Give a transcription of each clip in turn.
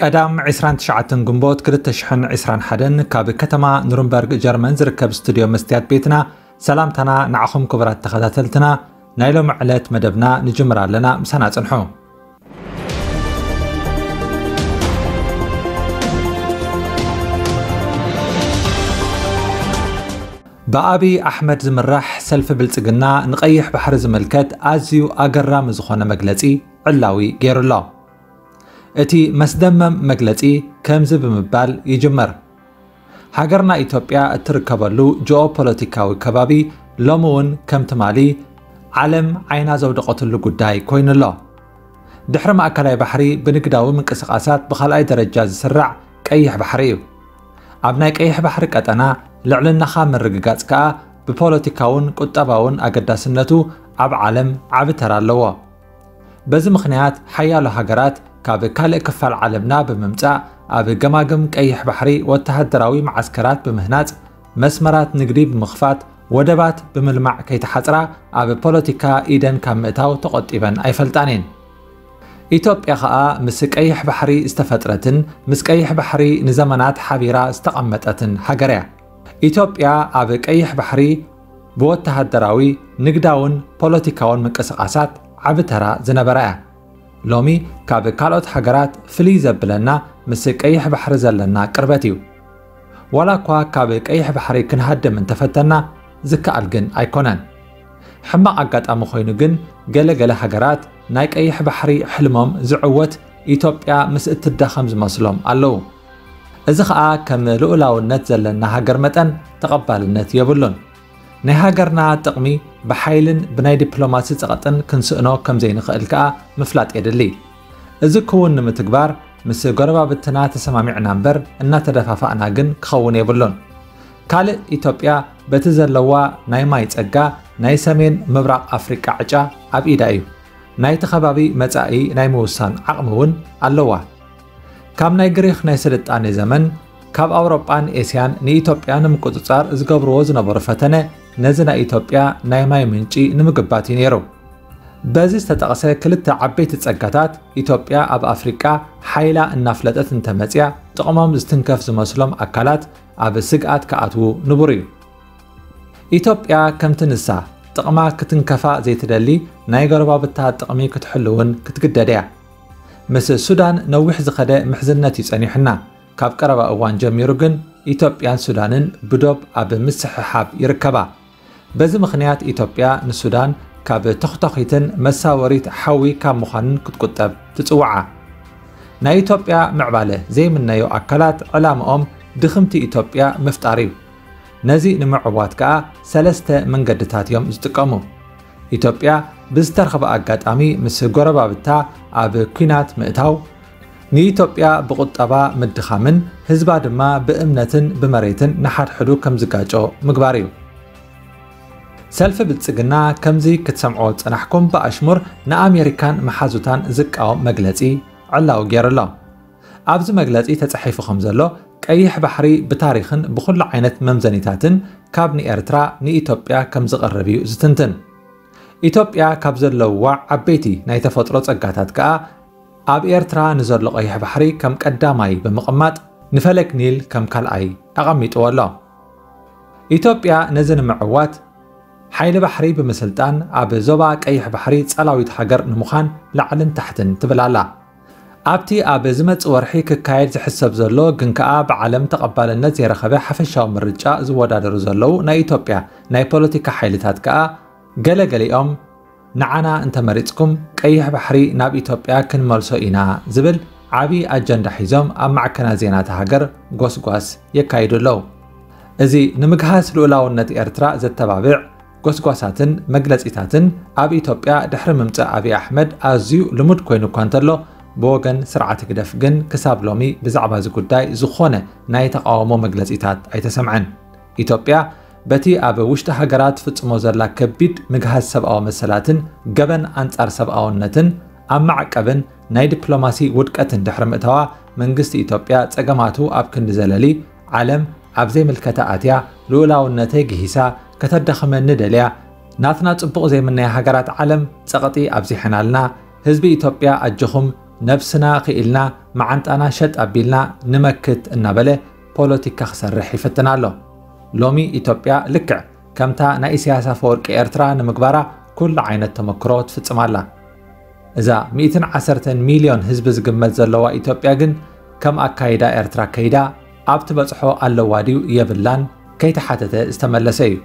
ቀዳም ዕስራን ትሽዓተን ግንቦት ክልተ ሽሕን ዕስራን ሓደን ካብ ከተማ ኑርንበርግ ጀርመን ዝርከብ ስቱድዮ መስትያት ቤትና ሰላምታና ንዓኹም ክቡራት ተኸታተልትና ናይ ሎሚ ዕለት መደብና ንጅምር ኣለና። ምሳና ጽንሑ። ብኣብይ ኣሕመድ ዝምራሕ ሰልፊ ብልጽግና ንቐይሕ ባሕሪ ዝምልከት ኣዝዩ ኣገራሚ ዝኾነ መግለጺ ዕላዊ ገይሩ ኣሎ። እቲ መስደመም መግለጺ ከምዚ ብምባል ይጅምር። ሃገርና ኢትዮጵያ እትርከበሉ ጂኦፖለቲካዊ ከባቢ ሎሚ እውን ከም ትማሊ ዓለም ዓይና ዘውደቐትሉ ጉዳይ ኮይኑ ኣሎ። ድሕሪ ማእከላይ ባሕሪ ብንግዳዊ ምንቅስቓሳት ብኻልኣይ ደረጃ ዝስራዕ ቀይሕ ባሕሪ እዩ። ኣብ ናይ ቀይሕ ባሕሪ ቀጠና ልዕልናኻ ምርግጋጽ ከኣ ብፖለቲካውን ቁጠባውን ኣገዳስነቱ ኣብ ዓለም ዓቢ ተራ ኣለዎ። በዚ ምኽንያት ሓያሎ ሃገራት ካብ ካልእ ክፋል ዓለምና ብምምጻእ ኣብ ገማግም ቀይሕ ባሕሪ ወተሃደራዊ መዓስከራት ብምህናጽ፣ መስመራት ንግዲ ብምኽፋት፣ ወደባት ብምልማዕ ከይተሓጽራ ኣብ ፖለቲካ ኢደን ካብ ምእታው ተቖጢበን ኣይፈልጣን እየን። ኢትዮጵያ ኸኣ ምስ ቀይሕ ባሕሪ ዝተፈጥረትን ምስ ቀይሕ ባሕሪ ንዘመናት ሓቢራ ዝተቐመጠትን ሃገር እያ። ኢትዮጵያ ኣብ ቀይሕ ባሕሪ ብወተሃደራዊ፣ ንግዳውን ፖለቲካውን ምንቅስቓሳት ዓቢ ተራ ዝነበራ እያ። ሎሚ ካብ ካልኦት ሃገራት ፍልይ ዘብለና ምስ ቀይሕ ባሕሪ ዘለና ቅርበት እዩ። ዋላ እኳ ካብ ቀይሕ ባሕሪ ክንሃድም እንተፈተና ዝከኣል ግን ኣይኮነን። ሕማቕ ኣጋጣሚ ኮይኑ ግን ገለ ገለ ሃገራት ናይ ቀይሕ ባሕሪ ሕልሞም ዝዕወት ኢትዮጵያ ምስ እትዳኸም ዝመስሎም ኣለዉ። እዚ ኸኣ ከም ልኡላውነት ዘለና ሃገር መጠን ተቐባልነት የብሉን። ናይ ሃገርና ጥቕሚ ብሓይልን ብናይ ዲፕሎማሲ ጸቕጥን ክንስእኖ ከም ዘይንኽእል ከኣ ምፍላጥ የድሊ። እዚ ክውን ንምትግባር ምስ ጎረባብትና ተሰማሚዕና እምበር እናተደፋፋእና ግን ክኸውን የብሉን። ካልእ ኢትዮጵያ በቲ ዘለዋ ናይ ማይ ጸጋ ናይ ሰሜን ምብራቕ ኣፍሪቃ ዕጫ ኣብ ኢዳ እዩ። ናይቲ ከባቢ መጻኢ ናይ ምውሳን ዓቕሚ እውን ኣለዋ። ካብ ናይ ግሪኽ ናይ ስልጣኔ ዘመን ካብ ኣውሮጳን ኤስያን ንኢትዮጵያ ንምቁጽጻር ዝገብርዎ ዝነበሩ ፈተነ ነዚ ናይ ኢትዮጵያ ናይ ማይ ምንጪ ንምግባት እዩ ነይሩ። በዚ ዝተጠቕሰ ክልተ ዓበይቲ ጸጋታት ኢትዮጵያ ኣብ ኣፍሪቃ ሓይላ እናፍለጠት እንተመጽያ ጥቕሞም ዝትንከፍ ዝመስሎም ኣካላት ኣብ ስግኣት ክኣትዉ ንቡር እዩ። ኢትዮጵያ ከምቲ ንሳ ጥቕማ ክትንከፋ ዘይትደሊ ናይ ጎረባብታ ጥቕሚ ክትሕሉ እውን ክትግደድ እያ። ምስ ሱዳን ነዊሕ ዝኸደ ምሕዝነት እዩ ጸኒሑና። ካብ ቀረባ እዋን ጀሚሩ ግን ኢትዮጵያን ሱዳንን ብዶብ ኣብ ምስሕሓብ ይርከባ። በዚ ምኽንያት ኢትዮጵያ ንሱዳን ካብ ተኽቶኺትን መሳወሪት ሓዊ ካብ ምዃንን ክትቁጠብ ትጽውዓ። ናይ ኢትዮጵያ ምዕባለ ዘይምነዩ ኣካላት ዕላምኦም ድኽምቲ ኢትዮጵያ ምፍጣር እዩ። ነዚ ንምዕዋት ከኣ ሰለስተ መንገድታት እዮም ዝጥቀሙ። ኢትዮጵያ ብዝተረኽበ ኣጋጣሚ ምስ ጎረባብታ ኣብ ኲናት ምእታው፣ ንኢትዮጵያ ብቁጠባ ምድኻምን ህዝባ ድማ ብእምነትን ብመሬትን ንሓድሕዱ ከም ዝጋጮ ምግባር እዩ። ሰልፊ ብልጽግና ከምዚ ክትሰምዕዎ ዝጸናሕኩም ብኣሽሙር ንኣሜሪካን መሓዙታን ዝቃወም መግለጺ ዕላዊ ገይሩ ኣሎ። ኣብዚ መግለጺ ተጻሒፉ ከም ዘሎ ቀይሕ ባሕሪ ብታሪኽን ብኹሉ ዓይነት መምዘኒታትን ካብ ንኤርትራ ንኢትዮጵያ ከም ዝቐርብ እዩ ዝትንትን። ኢትዮጵያ ካብ ዘለውዋ ዓበይቲ ናይ ተፈጥሮ ጸጋታት ከኣ ኣብ ኤርትራ ንዘሎ ቀይሕ ባሕሪ ከም ቀዳማይ ብምቕማጥ ንፈለግ ኒል ከም ካልኣይ ኣቐሚጥዎ ኣሎ። ኢትዮጵያ ነዚ ንምዕዋት ሓይሊ ባሕሪ ብምስልጣን ኣብ ዞባ ቀይሕ ባሕሪ ጸላዊት ሃገር ንምዃን ላዕልን ታሕትን ትብል ኣላ። ኣብቲ ኣብ ዝመጽእ ወርሒ ክካየድ ዝሕሰብ ዘሎ ግን ከኣ ብዓለም ተቐባልነት ዘይረኸበ ሓፈሻዊ ምርጫ ዝወዳደሩ ዘለዉ ናይ ኢትዮጵያ ናይ ፖለቲካ ሓይልታት ከኣ ገለ ገሊኦም ንዓና እንተመሪጽኩም ቀይሕ ባሕሪ ናብ ኢትዮጵያ ክንመልሶ ኢና ዝብል ዓቢ ኣጀንዳ ሒዞም ኣብ ማዕከናት ዜና እታ ሃገር ጎስጓስ የካይዱ ኣለዉ። እዚ ንምግሃስ ልኡላውነት ኤርትራ ዘተባብዕ ጎስጓሳትን መግለጺታትን ኣብ ኢትዮጵያ ድሕሪ ምምጻእ ኣብይ ኣሕመድ ኣዝዩ ልሙድ ኮይኑ እኳ እንተሎ፣ ብወገን ስርዓት ህግደፍ ግን ክሳብ ሎሚ ብዛዕባ እዚ ጉዳይ ዝኾነ ናይ ተቓውሞ መግለጺታት ኣይተሰምዐን። ኢትዮጵያ በቲ ኣብ ውሽጢ ሃገራ ትፍጽሞ ዘላ ከቢድ ምግሃስ ሰብኣዊ መሰላትን ገበን ኣንጻር ሰብኣውነትን ኣብ ማዕቀብን ናይ ዲፕሎማሲ ውድቀትን ድሕሪ ምእታዋ፣ መንግስቲ ኢትዮጵያ ጸገማቱ ኣብ ክንዲ ዘለሊ፣ ዓለም ኣብ ዘይምልከታ ኣትያ ልኡላውነተይ ግሂሳ ከተዳኽመኒ ደልያ፣ ናትና ጽቡቕ ዘይምነያ ሃገራት ዓለም ጸቕጢ ኣብዚሐናልና፣ ህዝቢ ኢትዮጵያ ኣጆኹም ነብስና ክኢልና መዓንጣና ሸጥ ኣቢልና ንመክት እናበለ ፖለቲካ ክሰርሕ ይፍትን ኣሎ። ሎሚ ኢትዮጵያ ልክዕ ከምታ ናይ ኢሳያስ ኣፈወርቂ ኤርትራ ንምግባራ ኩሉ ዓይነት ተመክሮ ትፍጽም ኣላ። እዛ ሚእትን ዓሰርተን ሚልዮን ህዝቢ ዝግመት ዘለዋ ኢትዮጵያ ግን ከም ኣካይዳ ኤርትራ ከይዳ ኣብ ትበጽሖ ኣለዋ ድዩ የብላን ከይተሓተተ ዝተመለሰ እዩ።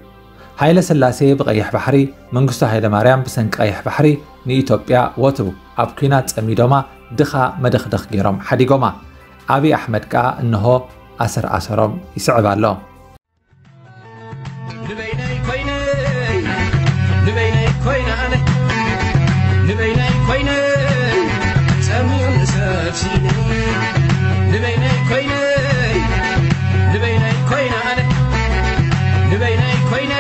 ሃይለ ስላሴ ብቐይሕ ባሕሪ፣ መንግስቱ ሃይለ ማርያም ብሰንኪ ቀይሕ ባሕሪ ንኢትዮጵያ ወትሩ ኣብ ኲናት ጸሚዶማ ድኻ መደኽደኽ ገይሮም ሓዲጎማ። ኣብይ ኣሕመድ ከኣ እንሆ ኣሰር ኣሰሮም ይስዕብ ኣሎ። ንበይነይ ኮይነ፣ ንበይነይ ኮይነ ኣነ፣ ንበይነይ ኮይነ፣ ጸሚኡኒ ሰብ ሲኢነ። ንበይነይ ኮይነ፣ ንበይነይ ኮይነ ኣነ፣ ንበይነይ ኮይነ፣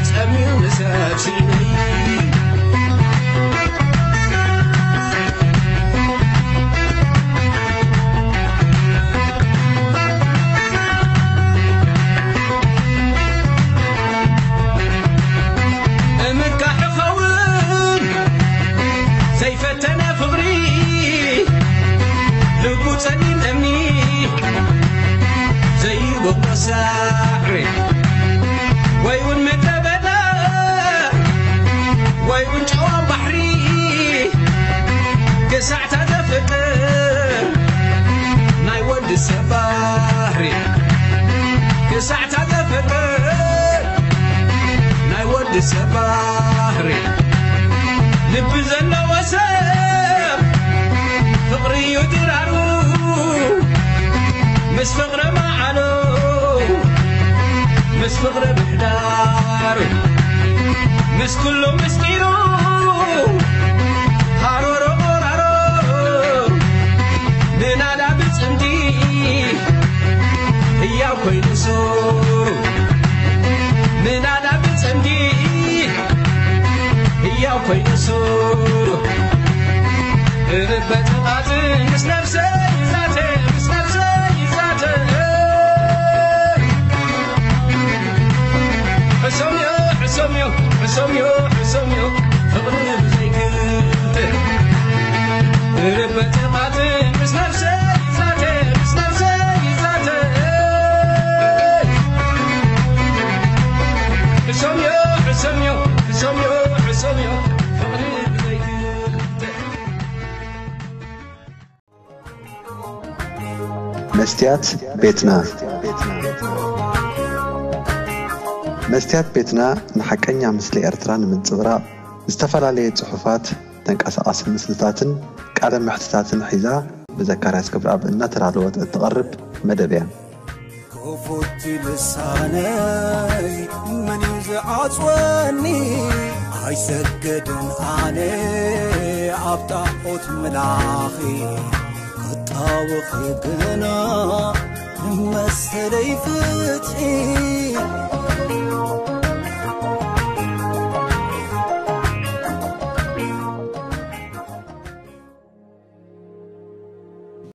ጸሚኡኒ ሰብ ሲኢነ። እምካሕ ኸውን ዘይፈተነ ፍቕሪ፣ ልቡ ጸሊም እምኒ ዘይበቁሎ ሳዕሪ፣ ወይ እውን ምድረ በዳ፣ ወይ እውን ጨዋ ባሕሪ፣ ክሳዕታ ዘፍቅር ናይ ወዲ ሰብ ባህሪ፣ ክሳዕታ ዘፍቅር ናይ ወዲ ሰብ ባህሪ። ልቢ ዘለዎ ሰብ ፍቕሪ እዩ ድራሩ፣ ምስ ፍቕሪ መዓሉ፣ ምስ ፍቕሪ ምሕዳሩ፣ ምስ ኩሉ ምስጢሩ፣ ሃሮሮ ቆራሮ፣ ንናዳ ብጽምዲ ህያው ኮይኑ ሱሩ፣ ንናዳ ብጽምዲ ህያው ኮይኑ ሱሩ። እበጥቓት ምስ ነብሰይ ይዛተ፣ ምስ ነብሰይ ይዛተ። ሕሶምዮ፣ ሕሶምዮ፣ ሕሶምዮ፣ ሕሶምዮ፣ ፍቕሪ ብዘይክልተ። እበጥቓት ምስ ነብሰይ ይዛተ፣ ምስ ነብሰይ ይዛተ። ሕሶምዮ፣ ሕሶምዮ፣ ሕሶምዮ፣ ሕሶምዮ፣ ፍቕሪ ብዘይክልተ። መስትያት ቤትና። መስትያት ቤትና ንሓቀኛ ምስሊ ኤርትራ ንምንጽብራቕ፣ ዝተፈላለየ ጽሑፋት፣ ተንቀሳቓሲ ምስልታትን ቃለ መሕትታትን ሒዛ ብዘካርያስ ክብረኣብ እናተዳለወት እትቐርብ መደብ እያ። ክፉት ልሳነይ መን እዩ ዝዓጽወኒ? ኣይሰግድን ኣነ ኣብ ጣዖት ምላኺ፣ ክጣወኺ ግና ንመሰለይ ፍትሒ።